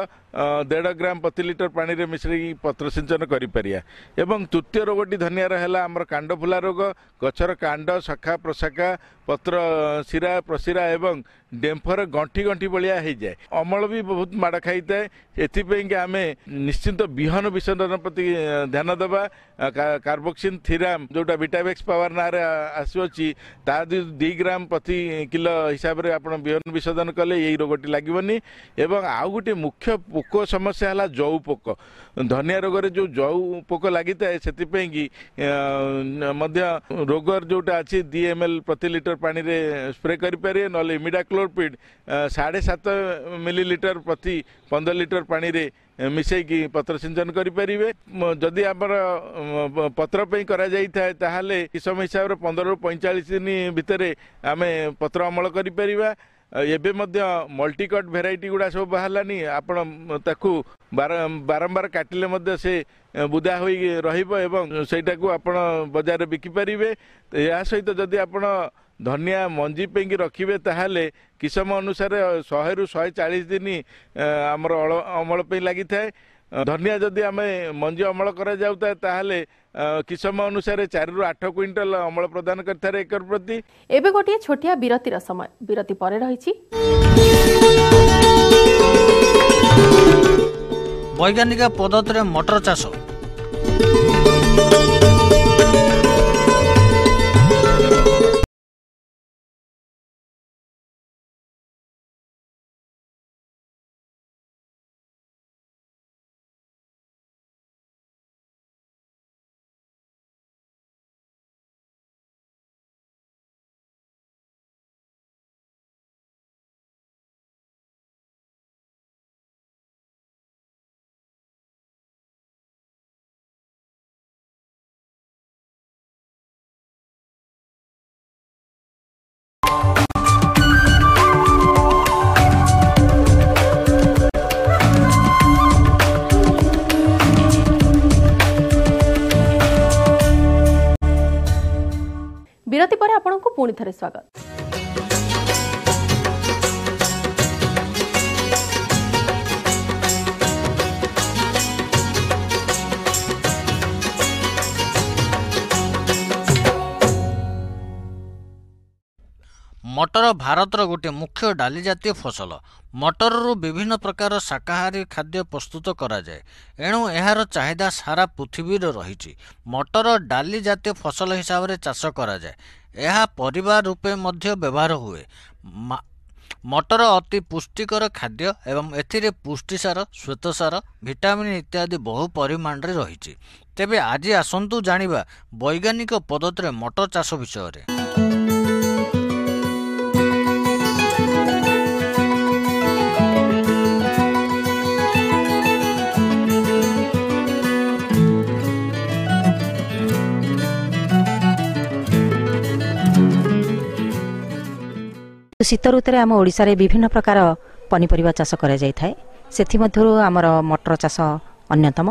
1.5 ଗ୍ରାମ ପ୍ରତି ଲିଟର ପାଣିରେ ମିଶାଇକି ପତ୍ର ସିଞ୍ଚନ କରିପାରିବା। ଏବଂ ତୃତୀୟ ରୋଗଟି ଧନିଆର ହେଲା ଆମର କାଣ୍ଡ ଫୁଲା ରୋଗ। ଗଛର କାଣ୍ଡ, ଶାଖା ପ୍ରଶାଖା, ପତ୍ର, ଶିରା ପ୍ରଶିରା ଏବଂ ଡେମ୍ଫର ଗଣ୍ଠି ଗଣ୍ଠି ଭଳିଆ ହେଇଯାଏ। ଅମଳ ବି ବହୁତ ମାଡ଼ ଖାଇଥାଏ। ଏଥିପାଇଁକି ଆମେ ନିଶ୍ଚିନ୍ତ ବିହନ ବିଶୋଧନ ପ୍ରତି ଧ୍ୟାନ ଦେବା। କାର୍ବୋକ୍ସିନ୍ ଥିରାମ ଯେଉଁଟା ଭିଟାଭେକ୍ସ ପାୱାର ନାଁରେ ଆସୁଅଛି, ତା 2 ଗ୍ରାମ ପ୍ରତି କିଲୋ ହିସାବରେ ଆପଣ ବିହନ ବିଶୋଧନ କଲେ ଏଇ ରୋଗଟି ଲାଗିବନି। ଏବଂ ଆଉ ଗୋଟିଏ ମୁଖ୍ୟ ପୋକ ସମସ୍ୟା ହେଲା ଜଉ ପୋକ। ଧନିଆ ରୋଗରେ ଯେଉଁ ଜଉ ପୋକ ଲାଗିଥାଏ, ସେଥିପାଇଁକି ମଧ୍ୟ ରୋଗର ଯେଉଁଟା ଅଛି 2 ml ପ୍ରତି ଲିଟର ପାଣିରେ ସ୍ପ୍ରେ କରିପାରିବେ, ନହେଲେ ଇମିଡାକ୍ଲୋରପିଡ୍ 7.5 ମିଲିଲିଟର ପ୍ରତି 15 ଲିଟର ପାଣିରେ ମିଶାଇକି ପତ୍ର ସିଞ୍ଚନ କରିପାରିବେ। ଯଦି ଆମର ପତ୍ର ପାଇଁ କରାଯାଇଥାଏ, ତାହେଲେ କିସମ ହିସାବରେ 15ରୁ 45 ଦିନ ଭିତରେ ଆମେ ପତ୍ର ଅମଳ କରିପାରିବା। ଏବେ ମଧ୍ୟ ମଲ୍ଟିକଟ୍ ଭେରାଇଟି ଗୁଡ଼ା ସବୁ ବାହାରିଲାନି, ଆପଣ ତାକୁ ବାରମ୍ବାର କାଟିଲେ ମଧ୍ୟ ସେ ବୁଦା ହୋଇ ରହିବ ଏବଂ ସେଇଟାକୁ ଆପଣ ବଜାରରେ ବିକିପାରିବେ। ଏହା ସହିତ ଯଦି ଆପଣ ଧନିଆ ମଞ୍ଜି ପାଇଁକି ରଖିବେ, ତାହେଲେ କିସମ ଅନୁସାରେ 100ରୁ 140 ଦିନ ଆମର ଅମଳ ପାଇଁ ଲାଗିଥାଏ। ଧନିଆ ଯଦି ଆମେ ମଞ୍ଜି ଅମଳ କରାଯାଉଥାଏ, ତାହେଲେ କିସମ ଅନୁସାରେ 4ରୁ 8 କୁଇଣ୍ଟାଲ ଅମଳ ପ୍ରଦାନ କରିଥାଏ ଏକର ପ୍ରତି। ଏବେ ଗୋଟିଏ ଛୋଟିଆ ବିରତିର ସମୟ। ବିରତି ପରେ ରହିଛି ବୈଜ୍ଞାନିକ ପଦ୍ଧତିରେ ମଟର ଚାଷ। ବିରତି ପରେ ଆପଣଙ୍କୁ ପୁଣି ଥରେ ସ୍ୱାଗତ। ମଟର ଭାରତର ଗୋଟିଏ ମୁଖ୍ୟ ଡାଲି ଜାତୀୟ ଫସଲ। ମଟରରୁ ବିଭିନ୍ନ ପ୍ରକାର ଶାକାହାରୀ ଖାଦ୍ୟ ପ୍ରସ୍ତୁତ କରାଯାଏ, ଏଣୁ ଏହାର ଚାହିଦା ସାରା ପୃଥିବୀରେ ରହିଛି। ମଟର ଡାଲି ଜାତୀୟ ଫସଲ ହିସାବରେ ଚାଷ କରାଯାଏ। ଏହା ପରିବା ରୂପେ ମଧ୍ୟ ବ୍ୟବହାର ହୁଏ। ମଟର ଅତି ପୁଷ୍ଟିକର ଖାଦ୍ୟ ଏବଂ ଏଥିରେ ପୁଷ୍ଟିସାର, ଶ୍ୱେତସାର, ଭିଟାମିନ୍ ଇତ୍ୟାଦି ବହୁ ପରିମାଣରେ ରହିଛି। ତେବେ ଆଜି ଆସନ୍ତୁ ଜାଣିବା ବୈଜ୍ଞାନିକ ପଦ୍ଧତିରେ ମଟର ଚାଷ ବିଷୟରେ। ଶୀତ ଋତୁରେ ଆମ ଓଡ଼ିଶାରେ ବିଭିନ୍ନ ପ୍ରକାର ପନିପରିବା ଚାଷ କରାଯାଇଥାଏ। ସେଥିମଧ୍ୟରୁ ଆମର ମଟର ଚାଷ ଅନ୍ୟତମ।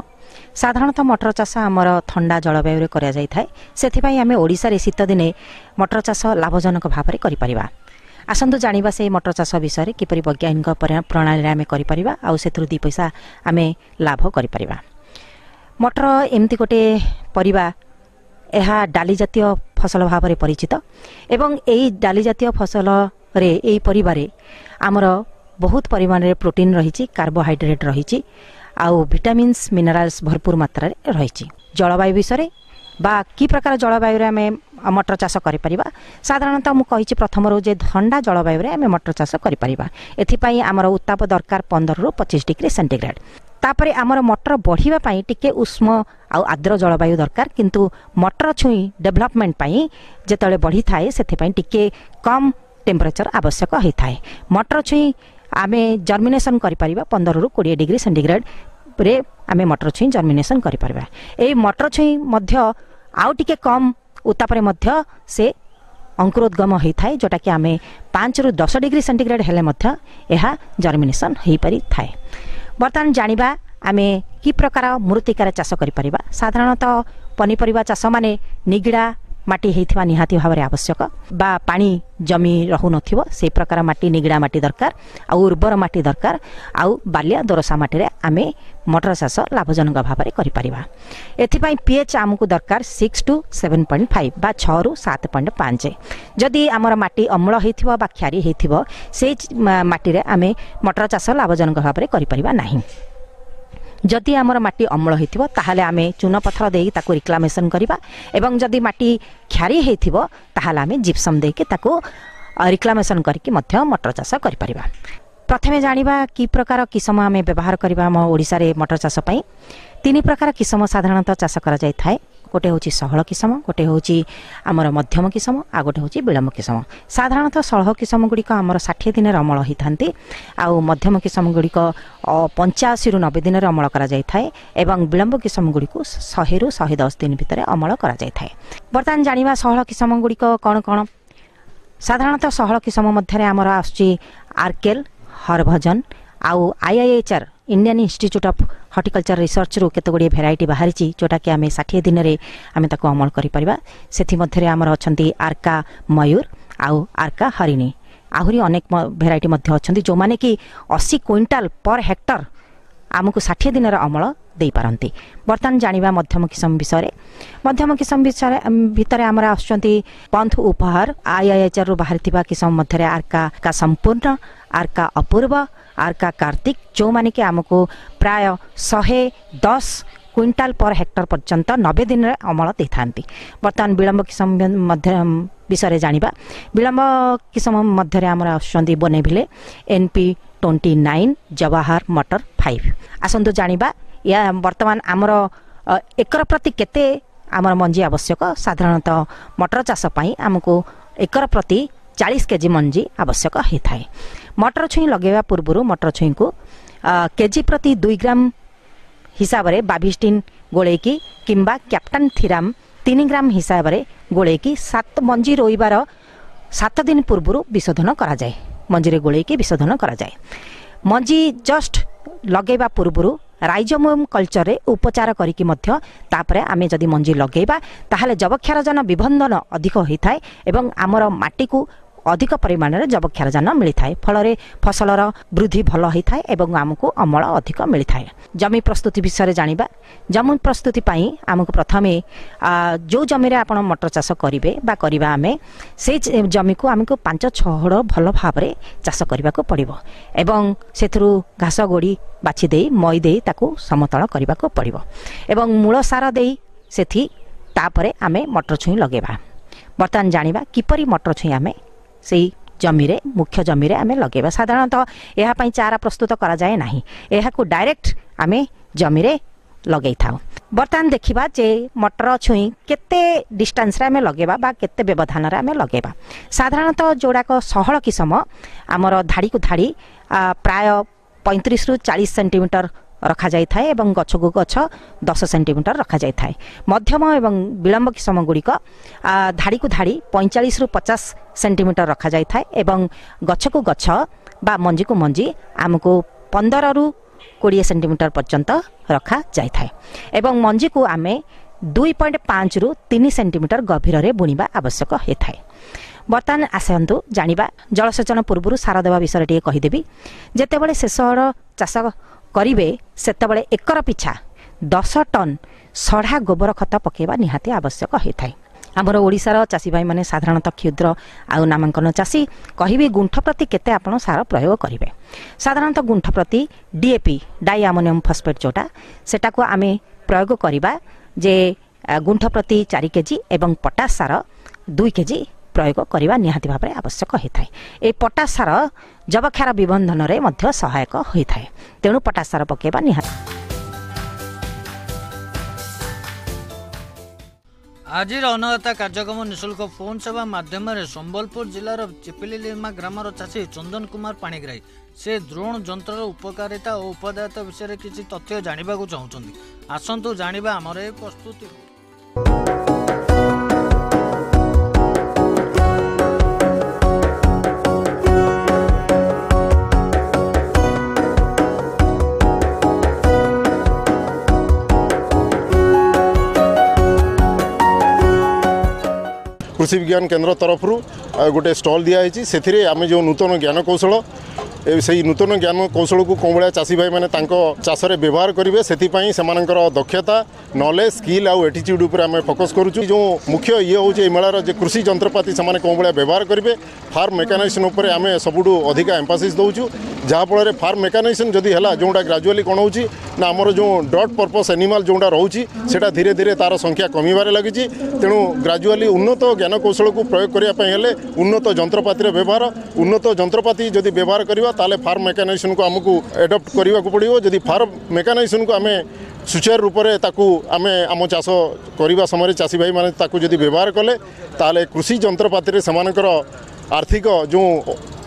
ସାଧାରଣତଃ ମଟର ଚାଷ ଆମର ଥଣ୍ଡା ଜଳବାୟୁରେ କରାଯାଇଥାଏ। ସେଥିପାଇଁ ଆମେ ଓଡ଼ିଶାରେ ଶୀତଦିନେ ମଟର ଚାଷ ଲାଭଜନକ ଭାବରେ କରିପାରିବା। ଆସନ୍ତୁ ଜାଣିବା ସେଇ ମଟର ଚାଷ ବିଷୟରେ, କିପରି ବୈଜ୍ଞାନିକ ପ୍ରଣାଳୀରେ ଆମେ କରିପାରିବା ଆଉ ସେଥିରୁ 2 ପଇସା ଆମେ ଲାଭ କରିପାରିବା। ମଟର ଏମିତି ଗୋଟେ ପରିବା, ଏହା ଡାଲି ଜାତୀୟ ଫସଲ ଭାବରେ ପରିଚିତ ଏବଂ ଏଇ ଡାଲି ଜାତୀୟ ଫସଲରେ, ଏଇ ପରିବାରେ ଆମର ବହୁତ ପରିମାଣରେ ପ୍ରୋଟିନ୍ ରହିଛି, କାର୍ବୋହାଇଡ୍ରେଟ୍ ରହିଛି ଆଉ ଭିଟାମିନ୍ସ, ମିନେରାଲ୍ସ ଭରପୁର ମାତ୍ରାରେ ରହିଛି। ଜଳବାୟୁ ବିଷୟରେ ବା କି ପ୍ରକାର ଜଳବାୟୁରେ ଆମେ ମଟର ଚାଷ କରିପାରିବା? ସାଧାରଣତଃ ମୁଁ କହିଛି ପ୍ରଥମରୁ ଯେ ଥଣ୍ଡା ଜଳବାୟୁରେ ଆମେ ମଟର ଚାଷ କରିପାରିବା। ଏଥିପାଇଁ ଆମର ଉତ୍ତାପ ଦରକାର 15ରୁ 25 ଡିଗ୍ରୀ ସେଣ୍ଟିଗ୍ରେଡ୍। ତାପରେ ଆମର ମଟର ବଢ଼ିବା ପାଇଁ ଟିକେ ଉଷ୍ମ ଆଉ ଆର୍ଦ୍ର ଜଳବାୟୁ ଦରକାର, କିନ୍ତୁ ମଟର ଛୁଇଁ ଡେଭଲପମେଣ୍ଟ ପାଇଁ ଯେତେବେଳେ ବଢ଼ିଥାଏ, ସେଥିପାଇଁ ଟିକେ କମ୍ ଟେମ୍ପରେଚର ଆବଶ୍ୟକ ହୋଇଥାଏ। ମଟର ଛୁଇଁ ଆମେ ଜର୍ମିନେସନ୍ କରିପାରିବା 15ରୁ 20 ଡିଗ୍ରୀ ସେଣ୍ଟିଗ୍ରେଡ୍ରେ ଆମେ ମଟର ଛୁଇଁ ଜର୍ମିନେସନ୍ କରିପାରିବା। ଏଇ ମଟର ଛୁଇଁ ମଧ୍ୟ ଆଉ ଟିକେ କମ୍ ଉତ୍ତାପରେ ମଧ୍ୟ ସେ ଅଙ୍କୁରୋଦ୍ଗମ ହୋଇଥାଏ, ଯେଉଁଟାକି ଆମେ 5ରୁ 10 ଡିଗ୍ରୀ ସେଣ୍ଟିଗ୍ରେଡ୍ ହେଲେ ମଧ୍ୟ ଏହା ଜର୍ମିନେସନ୍ ହୋଇପାରିଥାଏ। ବର୍ତ୍ତମାନ ଜାଣିବା ଆମେ କି ପ୍ରକାର ମୃତ୍ତିକାରେ ଚାଷ କରିପାରିବା। ସାଧାରଣତଃ ପନିପରିବା ଚାଷମାନେ ନିଗିଡ଼ା ମାଟି ହେଇଥିବା ନିହାତି ଭାବରେ ଆବଶ୍ୟକ, ବା ପାଣି ଜମି ରହୁନଥିବ ସେଇ ପ୍ରକାର ମାଟି, ନିଗିଡ଼ା ମାଟି ଦରକାର, ଆଉ ଉର୍ବର ମାଟି ଦରକାର। ଆଉ ବାଲିଆ ଦୋରସା ମାଟିରେ ଆମେ ମଟର ଚାଷ ଲାଭଜନକ ଭାବରେ କରିପାରିବା। ଏଥିପାଇଁ ପିଏଚ୍ ଆମକୁ ଦରକାର 6 ଟୁ 7.5 ବା 6ରୁ 7.5। ଯଦି ଆମର ମାଟି ଅମ୍ଳ ହେଇଥିବ ବା କ୍ଷାରୀ ହେଇଥିବ, ସେଇ ମାଟିରେ ଆମେ ମଟର ଚାଷ ଲାଭଜନକ ଭାବରେ କରିପାରିବା ନାହିଁ। ଯଦି ଆମର ମାଟି ଅମ୍ଳ ହେଇଥିବ, ତାହେଲେ ଆମେ ଚୂନ ପଥର ଦେଇକି ତାକୁ ରିକ୍ଲାମେସନ୍ କରିବା, ଏବଂ ଯଦି ମାଟି କ୍ଷାରୀ ହେଇଥିବ ତାହେଲେ ଆମେ ଜିପ୍ସମ୍ ଦେଇକି ତାକୁ ରିକ୍ଲାମେସନ୍ କରିକି ମଧ୍ୟ ମଟର ଚାଷ କରିପାରିବା। ପ୍ରଥମେ ଜାଣିବା କି ପ୍ରକାର କିସମ ଆମେ ବ୍ୟବହାର କରିବା। ଆମ ଓଡ଼ିଶାରେ ମଟର ଚାଷ ପାଇଁ 3 ପ୍ରକାର କିସମ ସାଧାରଣତଃ ଚାଷ କରାଯାଇଥାଏ। ଗୋଟେ ହେଉଛି ସହଳ କିସମ, ଗୋଟେ ହେଉଛି ଆମର ମଧ୍ୟମ କିସମ, ଆଉ ଗୋଟେ ହେଉଛି ବିଳମ୍ବ କିସମ। ସାଧାରଣତଃ ସହଳ କିସମ ଗୁଡ଼ିକ ଆମର 60 ଦିନରେ ଅମଳ ହୋଇଥାନ୍ତି, ଆଉ ମଧ୍ୟମ କିସମ ଗୁଡ଼ିକ 85ରୁ 90 ଦିନରେ ଅମଳ କରାଯାଇଥାଏ, ଏବଂ ବିଳମ୍ବ କିସମ ଗୁଡ଼ିକୁ 100ରୁ 110 ଦିନ ଭିତରେ ଅମଳ କରାଯାଇଥାଏ। ବର୍ତ୍ତମାନ ଜାଣିବା ସହଳ କିସମ ଗୁଡ଼ିକ କ'ଣ କ'ଣ। ସାଧାରଣତଃ ସହଳ କିସମ ମଧ୍ୟରେ ଆମର ଆସୁଛି ଆର୍କେଲ, ହରଭଜନ, ଆଉ ଆଇଆଇଏଚ୍ଆର୍ ଇଣ୍ଡିଆନ୍ ଇନଷ୍ଟିଚ୍ୟୁଟ୍ ଅଫ୍ ହର୍ଟିକଲଚର ରିସର୍ଚ୍ଚରୁ କେତେ ଗୁଡ଼ିଏ ଭେରାଇଟି ବାହାରିଛି, ଯେଉଁଟାକି ଆମେ 60 ଦିନରେ ଆମେ ତାକୁ ଅମଳ କରିପାରିବା। ସେଥିମଧ୍ୟରେ ଆମର ଅଛନ୍ତି ଆର୍କା ମୟୂର ଆଉ ଆର୍କା ହରିଣୀ। ଆହୁରି ଅନେକ ଭେରାଇଟି ମଧ୍ୟ ଅଛନ୍ତି, ଯେଉଁମାନେ କି 80 କୁଇଣ୍ଟାଲ ପର ହେକ୍ଟର ଆମକୁ 60 ଦିନର ଅମଳ ଦେଇପାରନ୍ତି। ବର୍ତ୍ତମାନ ଜାଣିବା ମଧ୍ୟମ କିସମ ବିଷୟରେ। ମଧ୍ୟମ କିସମ ବିଷୟରେ ଭିତରେ ଆମର ଆସୁଛନ୍ତି ପନ୍ଥ ଉପହାର, ଆଇଆଇଏଚ୍ଆର୍ରୁ ବାହାରିଥିବା କିସମ ମଧ୍ୟରେ ଆର୍କା ସମ୍ପୂର୍ଣ୍ଣ, ଆର୍କା ଅପୂର୍ବ, ଆର୍କା କାର୍ତ୍ତିକ, ଯେଉଁମାନେ କି ଆମକୁ ପ୍ରାୟ 110 କୁଇଣ୍ଟାଲ ପର ହେକ୍ଟର ପର୍ଯ୍ୟନ୍ତ 90 ଦିନରେ ଅମଳ ଦେଇଥାନ୍ତି। ବର୍ତ୍ତମାନ ବିଳମ୍ବ କିସମ ମଧ୍ୟ ବିଷୟରେ ଜାଣିବା। ବିଳମ୍ବ କିସମ ମଧ୍ୟରେ ଆମର ଆସୁଛନ୍ତି ବୋନେଭିଲେ, ଏନ୍ ପି 29, ଜବାହର ମଟର 5। ଆସନ୍ତୁ ଜାଣିବା ୟା ବର୍ତ୍ତମାନ ଆମର ଏକର ପ୍ରତି କେତେ ଆମର ମଞ୍ଜି ଆବଶ୍ୟକ। ସାଧାରଣତଃ ମଟର ଚାଷ ପାଇଁ ଆମକୁ ଏକର ପ୍ରତି 40 କେଜି ମଞ୍ଜି ଆବଶ୍ୟକ ହୋଇଥାଏ। ମଟର ଛୁଇଁ ଲଗାଇବା ପୂର୍ବରୁ ମଟର ଛୁଇଁକୁ କେଜି ପ୍ରତି 2 ଗ୍ରାମ ହିସାବରେ ବାଭିଷ୍ଟିନ୍ ଗୋଳେଇକି କିମ୍ବା କ୍ୟାପ୍ଟାନ୍ ଥିରାମ 3 ଗ୍ରାମ ହିସାବରେ ଗୋଳେଇକି 7 ମଞ୍ଜି ରୋଇବାର 7 ଦିନ ପୂର୍ବରୁ ବିଶୋଧନ କରାଯାଏ। ମଞ୍ଜିରେ ଗୋଳେଇକି ବିଶୋଧନ କରାଯାଏ। ମଞ୍ଜି ଜଷ୍ଟ ଲଗାଇବା ପୂର୍ବରୁ ରାଇଜୋମିୟମ କଲଚରରେ ଉପଚାର କରିକି ମଧ୍ୟ ତାପରେ ଆମେ ଯଦି ମଞ୍ଜି ଲଗାଇବା, ତାହେଲେ ଯବକ୍ଷାରଜାନ ବିବନ୍ଧନ ଅଧିକ ହୋଇଥାଏ ଏବଂ ଆମର ମାଟିକୁ ଅଧିକ ପରିମାଣରେ ଯବକ୍ଷାରଜାନ ମିଳିଥାଏ। ଫଳରେ ଫସଲର ବୃଦ୍ଧି ଭଲ ହୋଇଥାଏ ଏବଂ ଆମକୁ ଅମଳ ଅଧିକ ମିଳିଥାଏ। ଜମି ପ୍ରସ୍ତୁତି ବିଷୟରେ ଜାଣିବା। ଜମି ପ୍ରସ୍ତୁତି ପାଇଁ ଆମକୁ ପ୍ରଥମେ ଯେଉଁ ଜମିରେ ଆପଣ ମଟର ଚାଷ କରିବେ ବା କରିବା ଆମେ, ସେଇ ଜମିକୁ ଆମକୁ 5-6 ହଳ ଭଲ ଭାବରେ ଚାଷ କରିବାକୁ ପଡ଼ିବ, ଏବଂ ସେଥିରୁ ଘାସ ଗୋଡ଼ି ବାଛି ଦେଇ ମଇ ଦେଇ ତାକୁ ସମତଳ କରିବାକୁ ପଡ଼ିବ, ଏବଂ ମୂଳ ସାର ଦେଇ ସେଠି ତାପରେ ଆମେ ମଟର ଛୁଇଁ ଲଗାଇବା। ବର୍ତ୍ତମାନ ଜାଣିବା କିପରି ମଟର ଛୁଇଁ ଆମେ ସେଇ ଜମିରେ, ମୁଖ୍ୟ ଜମିରେ ଆମେ ଲଗାଇବା। ସାଧାରଣତଃ ଏହା ପାଇଁ ଚାରା ପ୍ରସ୍ତୁତ କରାଯାଏ ନାହିଁ, ଏହାକୁ ଡାଇରେକ୍ଟ ଆମେ ଜମିରେ ଲଗାଇଥାଉ। ବର୍ତ୍ତମାନ ଦେଖିବା ଯେ ମଟର ଛୁଇଁ କେତେ ଡିଷ୍ଟାନ୍ସରେ ଆମେ ଲଗାଇବା ବା କେତେ ବ୍ୟବଧାନରେ ଆମେ ଲଗାଇବା। ସାଧାରଣତଃ ଯେଉଁଡ଼ାକ ସହଳ କିସମ ଆମର ଧାଡ଼ିକୁ ଧାଡ଼ି ପ୍ରାୟ 35ରୁ 40 ସେଣ୍ଟିମିଟର ରଖାଯାଇଥାଏ ଏବଂ ଗଛକୁ ଗଛ 10 ସେଣ୍ଟିମିଟର ରଖାଯାଇଥାଏ। ମଧ୍ୟମ ଏବଂ ବିଳମ୍ବ କିସମ ଗୁଡ଼ିକ ଧାଡ଼ିକୁ ଧାଡ଼ି 45ରୁ 50 ସେଣ୍ଟିମିଟର ରଖାଯାଇଥାଏ ଏବଂ ଗଛକୁ ଗଛ ବା ମଞ୍ଜିକୁ ମଞ୍ଜି ଆମକୁ 15ରୁ 20 ସେଣ୍ଟିମିଟର ପର୍ଯ୍ୟନ୍ତ ରଖାଯାଇଥାଏ, ଏବଂ ମଞ୍ଜିକୁ ଆମେ 2.5ରୁ 3 ସେଣ୍ଟିମିଟର ଗଭୀରରେ ବୁଣିବା ଆବଶ୍ୟକ ହୋଇଥାଏ। ବର୍ତ୍ତମାନ ଆସନ୍ତୁ ଜାଣିବା ଜଳସେଚନ ପୂର୍ବରୁ ସାର ଦେବା ବିଷୟରେ ଟିକେ କହିଦେବି। ଯେତେବେଳେ ଶେଷ ହଳ ଚାଷ କରିବେ ସେତେବେଳେ ଏକର ପିଛା 10 ଟନ୍ ସଢ଼ା ଗୋବର ଖତ ପକାଇବା ନିହାତି ଆବଶ୍ୟକ ହୋଇଥାଏ। ଆମର ଓଡ଼ିଶାର ଚାଷୀ ଭାଇମାନେ ସାଧାରଣତଃ କ୍ଷୁଦ୍ର ଆଉ ନାମାଙ୍କନ ଚାଷୀ, କହିବି ଗୁଣ୍ଠ ପ୍ରତି କେତେ ଆପଣ ସାର ପ୍ରୟୋଗ କରିବେ। ସାଧାରଣତଃ ଗୁଣ୍ଠ ପ୍ରତି ଡିଏପି, ଡାଇ ଆମୋନିୟମ ଫସ୍ଫେଟ୍ ଯେଉଁଟା, ସେଟାକୁ ଆମେ ପ୍ରୟୋଗ କରିବା ଯେ ଗୁଣ୍ଠ ପ୍ରତି 4 କେଜି ଏବଂ ପଟାସ ସାର 2 କେଜି ପ୍ରୟୋଗ କରିବା ନିହାତି ଭାବରେ ଆବଶ୍ୟକ ହୋଇଥାଏ। ଏହି ପଟାସ ସାର ଯବକ୍ଷାର ବିବନ୍ଧନରେ ମଧ୍ୟ ସହାୟକ ହୋଇଥାଏ, ତେଣୁ ପଟାସ ସାର ପକାଇବା ନିହାତି। ଆଜିର ଅନ୍ନଦାତା କାର୍ଯ୍ୟକ୍ରମ ନିଃଶୁଳ୍କ ଫୋନ୍ ସେବା ମାଧ୍ୟମରେ ସମ୍ବଲପୁର ଜିଲ୍ଲାର ଚିପିଲିଲିମା ଗ୍ରାମର ଚାଷୀ ଚନ୍ଦନ କୁମାର ପାଣିଗ୍ରାହୀ ସେ ଡ୍ରୋନ୍ ଯନ୍ତ୍ରର ଉପକାରିତା ଓ ଉପାଦେୟତା ବିଷୟରେ କିଛି ତଥ୍ୟ ଜାଣିବାକୁ ଚାହୁଁଛନ୍ତି। ଆସନ୍ତୁ ଜାଣିବା ଆମର ଏ ପ୍ରସ୍ତୁତି। କୃଷି ବିଜ୍ଞାନ କେନ୍ଦ୍ର ତରଫରୁ ଗୋଟେ ଷ୍ଟଲ୍ ଦିଆହେଇଛି। ସେଥିରେ ଆମେ ଯେଉଁ ନୂତନ ଜ୍ଞାନକୌଶଳ, ସେଇ ନୂତନ ଜ୍ଞାନ କୌଶଳକୁ କେଉଁ ଭଳିଆ ଚାଷୀ ଭାଇମାନେ ତାଙ୍କ ଚାଷରେ ବ୍ୟବହାର କରିବେ, ସେଥିପାଇଁ ସେମାନଙ୍କର ଦକ୍ଷତା, ନଲେଜ, ସ୍କିଲ୍ ଆଉ ଆଟିଚ୍ୟୁଡ଼୍ ଉପରେ ଆମେ ଫୋକସ୍ କରୁଛୁ। ଯେଉଁ ମୁଖ୍ୟ ଇଏ ହେଉଛି ଏଇ ମେଳାର ଯେ କୃଷି ଯନ୍ତ୍ରପାତି ସେମାନେ କେଉଁ ଭଳିଆ ବ୍ୟବହାର କରିବେ, ଫାର୍ମ ମେକାନାଇଜେସନ୍ ଉପରେ ଆମେ ସବୁଠୁ ଅଧିକା ଏମ୍ଫାସିସ୍ ଦେଉଛୁ। ଯାହାଫଳରେ ଫାର୍ମ ମେକାନାଇଜେସନ୍ ଯଦି ହେଲା, ଯେଉଁଟା ଗ୍ରାଜୁଆଲି କ'ଣ ହେଉଛି ନା ଆମର ଯେଉଁ ଡଟ୍ ପର୍ପସ୍ ଆନିମାଲ୍ ଯେଉଁଟା ରହୁଛି, ସେଇଟା ଧୀରେ ଧୀରେ ତା'ର ସଂଖ୍ୟା କମିବାରେ ଲାଗିଛି। ତେଣୁ ଗ୍ରାଜୁଆଲି ଉନ୍ନତ ଜ୍ଞାନକୌଶଳକୁ ପ୍ରୟୋଗ କରିବା ପାଇଁ ହେଲେ ଉନ୍ନତ ଯନ୍ତ୍ରପାତିର ବ୍ୟବହାର, ଉନ୍ନତ ଯନ୍ତ୍ରପାତି ଯଦି ବ୍ୟବହାର କରିବା ତାହେଲେ ଫାର୍ମ ମେକାନାଇଜେସନ୍କୁ ଆମକୁ ଆଡପ୍ଟ କରିବାକୁ ପଡ଼ିବ। ଯଦି ଫାର୍ମ ମେକାନାଇଜେସନ୍କୁ ଆମେ ସୁଚାରୁ ରୂପରେ ତାକୁ ଆମେ ଆମ ଚାଷ କରିବା ସମୟରେ ଚାଷୀ ଭାଇମାନେ ତାକୁ ଯଦି ବ୍ୟବହାର କଲେ, ତାହେଲେ କୃଷି ଯନ୍ତ୍ରପାତିରେ ସେମାନଙ୍କର ଆର୍ଥିକ ଯେଉଁ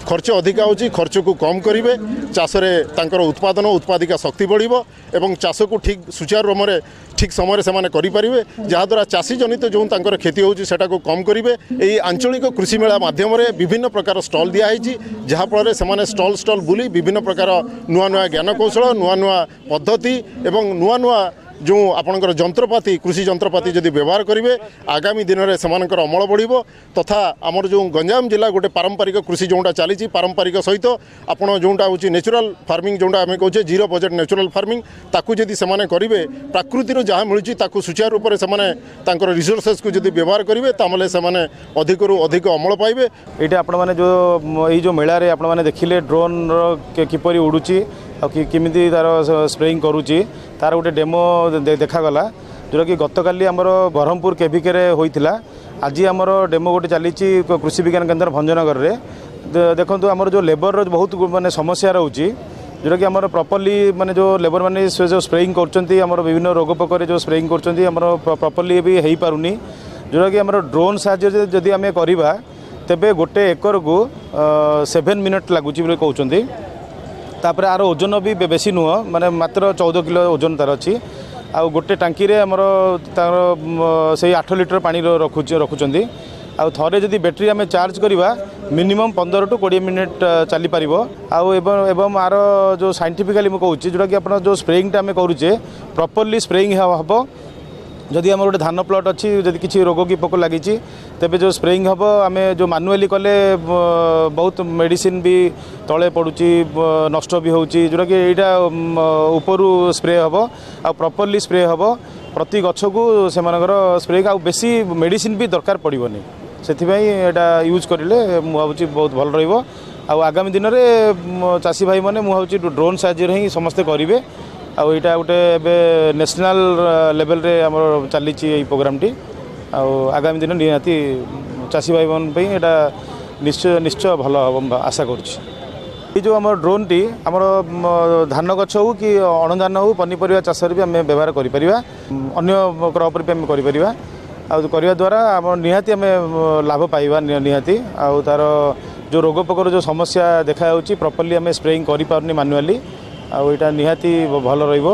ଖର୍ଚ୍ଚ ଅଧିକା ହେଉଛି, ଖର୍ଚ୍ଚକୁ କମ୍ କରିବେ, ଚାଷରେ ତାଙ୍କର ଉତ୍ପାଦନ ଉତ୍ପାଦିକା ଶକ୍ତି ବଢ଼ିବ ଏବଂ ଚାଷକୁ ଠିକ୍ ସୁଚାରୁ ରୂପରେ ଠିକ୍ ସମୟରେ ସେମାନେ କରିପାରିବେ, ଯାହାଦ୍ୱାରା ଚାଷୀ ଜନିତ ଯେଉଁ ତାଙ୍କର କ୍ଷତି ହେଉଛି ସେଟାକୁ କମ୍ କରିବେ। ଏହି ଆଞ୍ଚଳିକ କୃଷି ମେଳା ମାଧ୍ୟମରେ ବିଭିନ୍ନ ପ୍ରକାର ଷ୍ଟଲ୍ ଦିଆହେଇଛି, ଯାହାଫଳରେ ସେମାନେ ଷ୍ଟଲ୍ ଷ୍ଟଲ୍ ବୁଲି ବିଭିନ୍ନ ପ୍ରକାର ନୂଆ ନୂଆ ଜ୍ଞାନକୌଶଳ, ନୂଆ ନୂଆ ପଦ୍ଧତି ଏବଂ ନୂଆ ନୂଆ ଯେଉଁ ଆପଣଙ୍କର ଯନ୍ତ୍ରପାତି, କୃଷି ଯନ୍ତ୍ରପାତି ଯଦି ବ୍ୟବହାର କରିବେ, ଆଗାମୀ ଦିନରେ ସେମାନଙ୍କର ଅମଳ ବଢ଼ିବ। ତଥା ଆମର ଯେଉଁ ଗଞ୍ଜାମ ଜିଲ୍ଲା ଗୋଟେ ପାରମ୍ପରିକ କୃଷି ଯେଉଁଟା ଚାଲିଛି, ପାରମ୍ପରିକ ସହିତ ଆପଣ ଯେଉଁଟା ହେଉଛି ନ୍ୟାଚୁରାଲ୍ ଫାର୍ମିଂ, ଯେଉଁଟା ଆମେ କହୁଛେ ଜିରୋ ବଜେଟ୍ ନ୍ୟାଚୁରାଲ୍ ଫାର୍ମିଂ, ତାକୁ ଯଦି ସେମାନେ କରିବେ, ପ୍ରାକୃତିରୁ ଯାହା ମିଳୁଛି ତାକୁ ସୁଚାରୁ ରୂପରେ ସେମାନେ ତାଙ୍କର ରିସୋର୍ସେସ୍କୁ ଯଦି ବ୍ୟବହାର କରିବେ, ତାହେଲେ ସେମାନେ ଅଧିକରୁ ଅଧିକ ଅମଳ ପାଇବେ। ଏଇଟା ଆପଣମାନେ ଯେଉଁ ଏଇ ଯେଉଁ ମେଳାରେ ଆପଣମାନେ ଦେଖିଲେ ଡ୍ରୋନ୍ର କିପରି ଉଡ଼ୁଛି ଆଉ କେମିତି ତା'ର ସ୍ପ୍ରେଇଂ କରୁଛି, ତାର ଗୋଟେ ଡେମୋ ଦେଖାଗଲା, ଯେଉଁଟାକି ଗତକାଲି ଆମର ବ୍ରହ୍ମପୁର କେଭିକେରେ ହୋଇଥିଲା। ଆଜି ଆମର ଡେମୋ ଗୋଟେ ଚାଲିଛି କୃଷି ବିଜ୍ଞାନ କେନ୍ଦ୍ର ଭଞ୍ଜନଗରରେ। ଦେଖନ୍ତୁ, ଆମର ଯେଉଁ ଲେବରର ବହୁତ ମାନେ ସମସ୍ୟା ରହୁଛି, ଯେଉଁଟାକି ଆମର ପ୍ରପରଲି ମାନେ ଯେଉଁ ଲେବର ମାନେ ସେ ଯେଉଁ ସ୍ପ୍ରେଇଂ କରୁଛନ୍ତି, ଆମର ବିଭିନ୍ନ ରୋଗ ପୋକରେ ଯେଉଁ ସ୍ପ୍ରେଇଂ କରୁଛନ୍ତି, ଆମର ପ୍ରପରଲି ବି ହେଇପାରୁନି। ଯେଉଁଟାକି ଆମର ଡ୍ରୋନ୍ ସାହାଯ୍ୟରେ ଯଦି ଆମେ କରିବା, ତେବେ ଗୋଟେ ଏକରକୁ 7 ମିନିଟ୍ ଲାଗୁଛି ବୋଲି କହୁଛନ୍ତି। ତାପରେ ଆର ଓଜନ ବି ବେଶୀ ନୁହଁ, ମାନେ ମାତ୍ର 14 କିଲୋ ଓଜନ ତାର ଅଛି। ଆଉ ଗୋଟେ ଟାଙ୍କିରେ ଆମର ତାର ସେଇ 8 ଲିଟର ପାଣି ରଖୁଛନ୍ତି। ଆଉ ଥରେ ଯଦି ବ୍ୟାଟେରୀ ଆମେ ଚାର୍ଜ କରିବା, ମିନିମମ୍ 15 ଟୁ 20 ମିନିଟ୍ ଚାଲିପାରିବ। ଆଉ ଏବଂ ଆର ଯେଉଁ ସାଇଣ୍ଟିଫିକାଲି ମୁଁ କହୁଛି, ଯେଉଁଟାକି ଆପଣ ଯେଉଁ ସ୍ପ୍ରେଇଂଟା ଆମେ କରୁଛେ, ପ୍ରପରଲି ସ୍ପ୍ରେଇଂ ହେବ। ଯଦି ଆମର ଗୋଟେ ଧାନ ପ୍ଲଟ୍ ଅଛି, ଯଦି କିଛି ରୋଗ କି ପୋକ ଲାଗିଛି, ତେବେ ଯେଉଁ ସ୍ପ୍ରେଇଂ ହେବ, ଆମେ ଯେଉଁ ମାନୁଆଲି କଲେ ବହୁତ ମେଡ଼ିସିନ ବି ତଳେ ପଡ଼ୁଛି, ନଷ୍ଟ ବି ହେଉଛି। ଯେଉଁଟାକି ଏଇଟା ଉପରୁ ସ୍ପ୍ରେ ହେବ ଆଉ ପ୍ରପରଲି ସ୍ପ୍ରେ ହେବ ପ୍ରତି ଗଛକୁ ସେମାନଙ୍କର ସ୍ପ୍ରେ, ଆଉ ବେଶୀ ମେଡ଼ିସିନ ବି ଦରକାର ପଡ଼ିବନି। ସେଥିପାଇଁ ଏଇଟା ୟୁଜ୍ କରିଲେ ମୁଁ ଭାବୁଛି ବହୁତ ଭଲ ରହିବ। ଆଉ ଆଗାମୀ ଦିନରେ ଚାଷୀ ଭାଇମାନେ ମୁଁ ଭାବୁଛି ଡ୍ରୋନ୍ ସାହାଯ୍ୟରେ ହିଁ ସମସ୍ତେ କରିବେ। ଆଉ ଏଇଟା ଗୋଟେ ଏବେ ନ୍ୟାସନାଲ୍ ଲେଭେଲରେ ଆମର ଚାଲିଛି ଏଇ ପ୍ରୋଗ୍ରାମଟି। ଆଉ ଆଗାମୀ ଦିନ ନିହାତି ଚାଷୀ ଭାଇମାନଙ୍କ ପାଇଁ ଏଇଟା ନିଶ୍ଚୟ ନିଶ୍ଚୟ ଭଲ ହେବ ମୁଁ ଆଶା କରୁଛି। ଏଇ ଯେଉଁ ଆମର ଡ୍ରୋନ୍ଟି ଆମର ଧାନ ଗଛ ହେଉ କି ଅଣଧାନ ହେଉ, ପନିପରିବା ଚାଷରେ ବି ଆମେ ବ୍ୟବହାର କରିପାରିବା, ଅନ୍ୟ କ୍ରପ୍ରେ ବି ଆମେ କରିପାରିବା। ଆଉ କରିବା ଦ୍ୱାରା ଆମର ନିହାତି ଆମେ ଲାଭ ପାଇବା ନିହାତି। ଆଉ ତା'ର ଯେଉଁ ରୋଗ ପୋକର ଯେଉଁ ସମସ୍ୟା ଦେଖାଯାଉଛି, ପ୍ରପରଲି ଆମେ ସ୍ପ୍ରେଇଂ କରିପାରୁନି ମାନୁଆଲି, ଆଉ ଏଇଟା ନିହାତି ଭଲ ରହିବ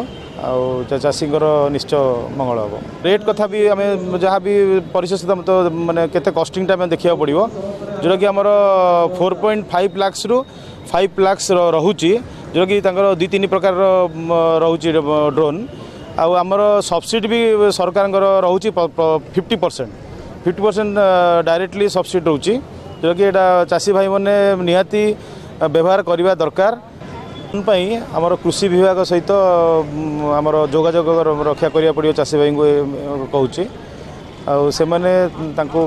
ଆଉ ଚାଷୀଙ୍କର ନିଶ୍ଚୟ ମଙ୍ଗଳ ହେବ। ରେଟ୍ କଥା ବି ଆମେ ଯାହା ବି ପରିଶେଷ ତ ମାନେ କେତେ କଷ୍ଟିଂଟା ଆମେ ଦେଖିବାକୁ ପଡ଼ିବ, ଯେଉଁଟାକି ଆମର 4.5 ଲାକ୍ସରୁ 5 ଲାକ୍ସ ରହୁଛି, ଯେଉଁଟାକି ତାଙ୍କର 2 3 ପ୍ରକାରର ରହୁଛି ଡ୍ରୋନ୍। ଆଉ ଆମର ସବସିଡ଼ି ବି ସରକାରଙ୍କର ରହୁଛି 50%, 50% ଡାଇରେକ୍ଟଲି ସବସିଡ଼ି ରହୁଛି, ଯେଉଁଟାକି ଏଇଟା ଚାଷୀ ଭାଇମାନେ ନିହାତି ବ୍ୟବହାର କରିବା ଦରକାର ପାଇଁ ଆମର କୃଷି ବିଭାଗ ସହିତ ଆମର ଯୋଗାଯୋଗ ରକ୍ଷା କରିବାକୁ ପଡ଼ିବ। ଚାଷୀ ଭାଇଙ୍କୁ କହୁଛି, ଆଉ ସେମାନେ ତାଙ୍କୁ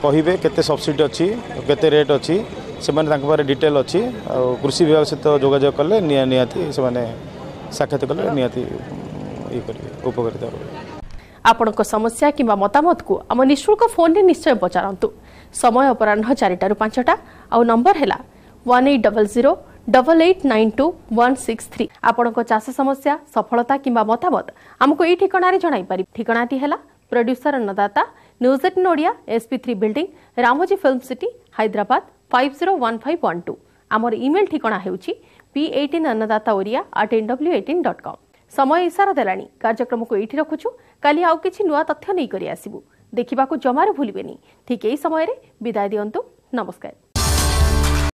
କହିବେ କେତେ ସବସିଡ଼ି ଅଛି, କେତେ ରେଟ୍ ଅଛି, ସେମାନେ ତାଙ୍କ ପାଖରେ ଡିଟେଲ୍ ଅଛି। ଆଉ କୃଷି ବିଭାଗ ସହିତ ଯୋଗାଯୋଗ କଲେ ନିହାତି ସେମାନେ ସାକ୍ଷାତ କଲେ ନିହାତି ଇଏ କରିବେ, ଉପକାରିତା ହେବ। ଆପଣଙ୍କ ସମସ୍ୟା କିମ୍ବା ମତାମତକୁ ଆମ ନିଃଶୁଳ୍କ ଫୋନ୍ରେ ନିଶ୍ଚୟ ପଚାରନ୍ତୁ। ସମୟ ଅପରାହ୍ନ 4ଟାରୁ 5ଟା ଆଉ ନମ୍ବର ହେଲା 18008892163। ଆପଣଙ୍କ ଚାଷ ସମସ୍ୟା, ସଫଳତା କିମ୍ବା ମତାମତ ଆମକୁ ଏଇ ଠିକଣାରେ ଜଣାଇପାରିବେ। ଠିକଣାଟି ହେଲା producer Annadata, news 18 Odia, SP 3 building, Ramoji film city, Hyderabad 501512। ଆମର ଇମେଲ୍ ଠିକଣା ହେଉଛି p18annadataoria@nw18.com। ସମୟ ଇସାରା ଦେଲାଣି, କାର୍ଯ୍ୟକ୍ରମକୁ ଏଇଠି ରଖୁଛୁ। କାଲି ଆଉ କିଛି ନୂଆ ତଥ୍ୟ ନେଇକରି ଆସିବୁ, ଦେଖିବାକୁ ଜମାରୁ ଭୁଲିବେନି ଠିକ୍ ଏଇ ସମୟରେ। ବିଦାୟ ଦିଅନ୍ତୁ, ନମସ୍କାର।